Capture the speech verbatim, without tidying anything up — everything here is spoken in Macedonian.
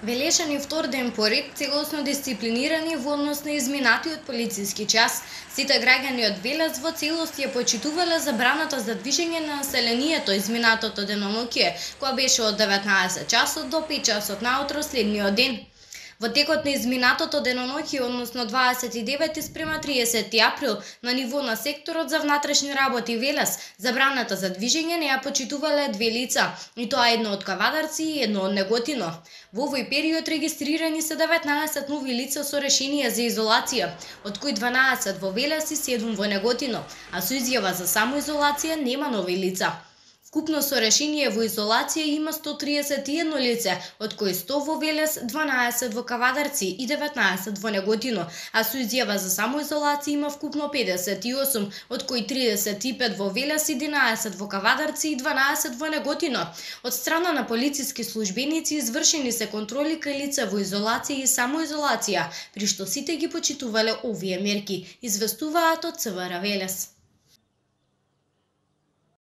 Велешани втор ден поред, целосно дисциплинирани во однос на изминатиот полициски час, сите граѓани од Велес во целост ја почитувале забраната за движење на населението изминатото деноноќе, која беше од деветнаесет часот до пет часот наутро следниот ден. Во текот на изминатото деноноќе, односно дваесет и девети спрема триесети април, на ниво на секторот за внатрешни работи Велес, забраната за движење не ја почитувале две лица, и тоа едно од Кавадарци и едно од Неготино. Во овој период регистрирани се деветнаесет нови лица со решение за изолација, од кои дванаесет во Велес и седум во Неготино, а со изјава за самоизолација нема нови лица. Вкупно со решение во изолација има сто триесет и едно лице, од кои сто во Велес, дванаесет во Кавадарци и деветнаесет во Неготино, а со изјава за самоизолација има вкупно педесет и осум, од кои тридесет и пет во Велес, единаесет во Кавадарци и дванаесет во Неготино. Од страна на полициски службеници извршени се контроли кај лица во изолација и самоизолација, при што сите ги почитувале овие мерки, известуваат од ЦВР Велес.